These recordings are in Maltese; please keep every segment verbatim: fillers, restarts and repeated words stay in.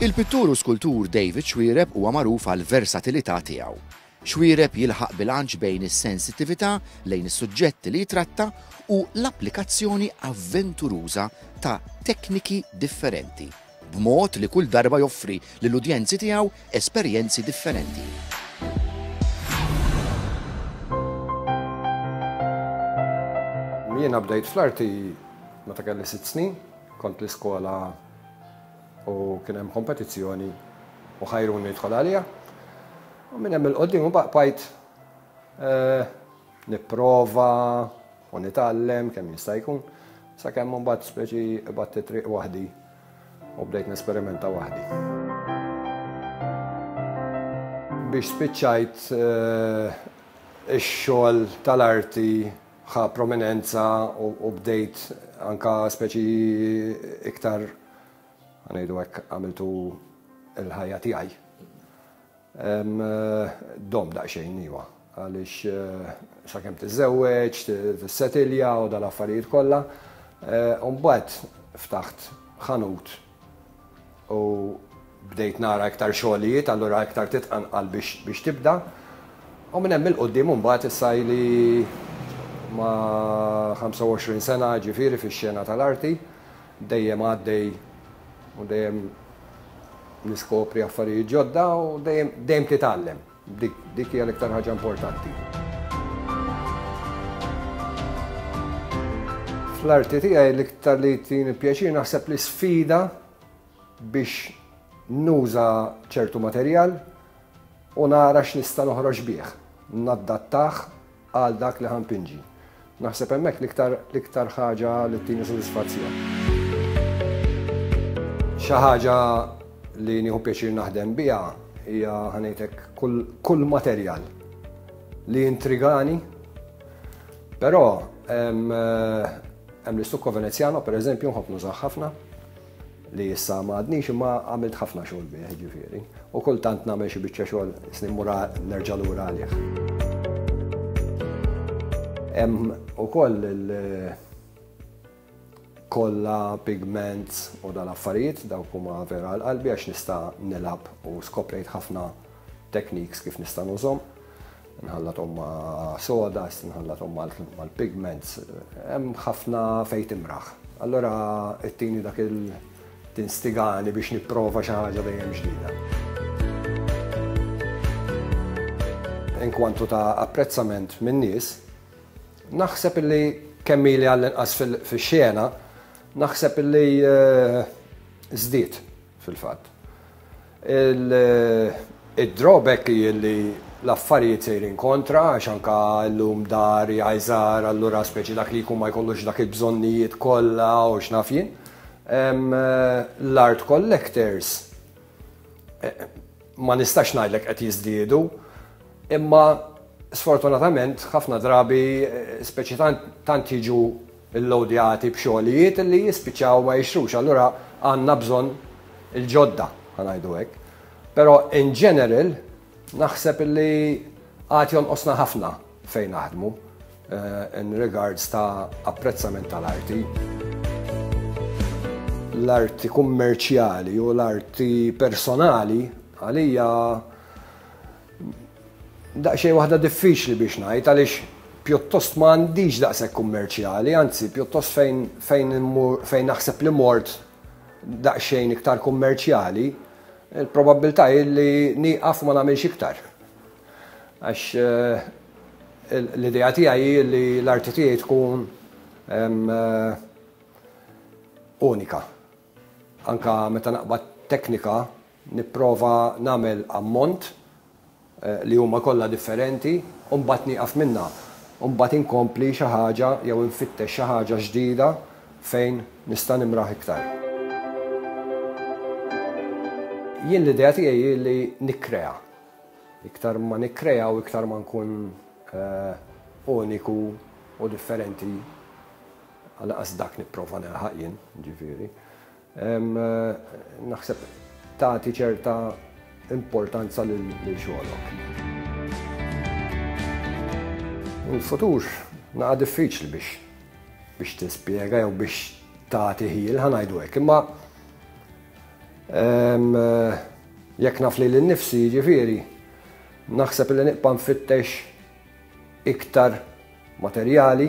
Il-pittur u skultur David Xuereb huwa magħruf għal versatilità tiegħu. Xuereb jilħaq bilanċ bejn is-sensittività lejn is-suġġetti li jitratta u l-applikazzjoni avventuruża ta' tekniki differenti, b'mod li kull darba joffri lill-udjenzi tiegħu esperjenzi differenti. Jiena bdejt fl-arti meta kelli sitt snin, kont l-iskola u kien hemm kompetizzjoni u ħajruni nidħol għalija. U minn hemm il-qoddim u baqajt nipprova u nitgħallem kemm jista' jkun, sakemm imbagħad speċi qbadt it-triq waħdi u bdejt nesperimenta waħdi. Biex spiċċajt ix-xogħol tal-arti ħa prominenza u bdejt anka speċi iktar, ngħidu hekk, għamiltu l-ħajja tiegħi. Dom daqsxejn iwa, għaliex sakemm tiżżewweġ, tissetilja u dal-affarijiet kollha. U mbagħad ftaħt ħanut u bdejt nara iktar xogħlijiet, allura iktar titqanqal biex tibda. U minn hemm il-qudiem mbagħad issa ili ma' ħamsa u għoxrin sena ġifieri fix-xena tal-arti, dejjem għaddej u dejjem niskopri affarijiet ġodda u dejjem, dejjem titgħallem. Dik, dik hija l-iktar ħaġa importanti. Fl-arti tiegħi l-iktar li tini pjaċir naħseb li sfida biex nuża ċertu materjal u nara x'nista' noħroġ bih, naddattah għal dak li ħampinġi. Naħseb hemmhekk l-iktar, l-iktar ħaġa li tini sodisfazzjon. Xi ħaġa li nieħu pjaċir naħdem biha hija ħanejtek kull, kull materjal li intrigani, però hemm, hemm l-istukko Venezjano pereżempju nħobb nużah ħafna, li issa ma għadnix imma għamilt ħafna xogħol bih, ġifieri. U kultant nagħmel xi biċċa xogħol snin mura nerġa' lura għalih. Hemm ukoll il-kolla, pigments u dal-affarijiet, dawk huma vera għal qalbi għax nista' nilgħab u skoprejt ħafna techniques kif nista' nużhom. Nħallathom ma' soda, nħallathom mal-pigments, hemm ħafna fejn timraħ. Allura ittini dak il-tinstigani biex nipprova xi ħaġa dejjem ġdida. In kwantu ta' apprezzament min-nies, naħseb illi kemm ili għall-inqas fil-xena, naħseb illi, eh, żdied fil-fatt. Il-drawback hi li l-affarijiet sejrin kontra, għax anka llum dar jgħajżar, allura speċi dak li jkun ma jkollux dak il-bżonnijiet kollha u x'naf jien. L-art collectors, eh, ma nistax ngħidlek qed jiżdiedu, imma sfortunatament ħafna drabi, eh, speċi tant, tant jiġu illowdjati b'xogħlijiet li jispiċċaw ma jixtrux, allura għandna bżonn il-ġodda, ħanajdu hekk. Però in general naħseb illi għad jonqosna ħafna fejn naħdmu, eh, in regards ta' apprezzament tal-arti. L-arti kummerċjali u l-arti personali għalija daqsxejn waħda diffiċli biex ngħid, għaliex pjuttost ma għandix daqshekk kummerċjali, anzi pjuttost fejn, fejn immur, fejn naħseb li mort daqsxejn iktar kummerċjali, il-probabbiltà hi li nieqaf ma nagħmilx iktar. Għax, eh, l-idea tiegħi hi li l-arti tiegħi tkun, em, eh, unika. Anka meta naqbad teknika nipprova nagħmel ammont, eh, li huma kollha differenti u mbagħad nieqaf minnha. U mbagħad inkompli xi ħaġa jew infittex xi ħaġa ġdida fejn nista' nimraħ iktar. Jien l-idea tiegħi hi li nikkrea. Iktar ma nikkrea u iktar ma nkun, eh, uniku u differenti, għal-qas dak nipprova nilħaq jien, ġifieri. Em, eh, naħseb tagħti ċerta importanza lil xogħolok. Il-futur naqa' diffiċli biex, biex tispjega jew biex tagħti ħil, ħa ngħidu hekk, imma Jekk naf lili nnifsi, ġifieri, naħseb li nibqa' nfittex iktar materjali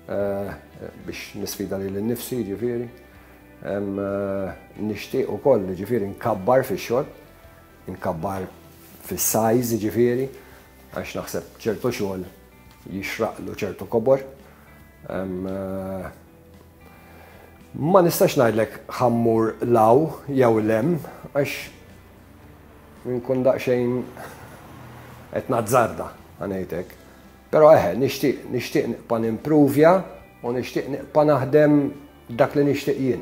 biex nisfida lili nnifsi, ġifieri. Nixtieq ukoll, ġifieri, nkabbar fix-xogħol, nkabbar fis-size, ġifieri, għax naħseb ċertu xogħol jixraqlu ċertu kobor. Ma nistax ngħidlek ħa mmur 'l hawn jew 'l hemm, għax nkun daqsxejn qed nazzarda, ħa ngħidlek. Però eħe, nixtieq nixtieq nibqa' nimpruvja u nixtieq nibqa' naħdem dak li nixtieq jien,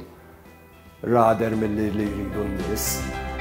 rather milli li jridu n-nies.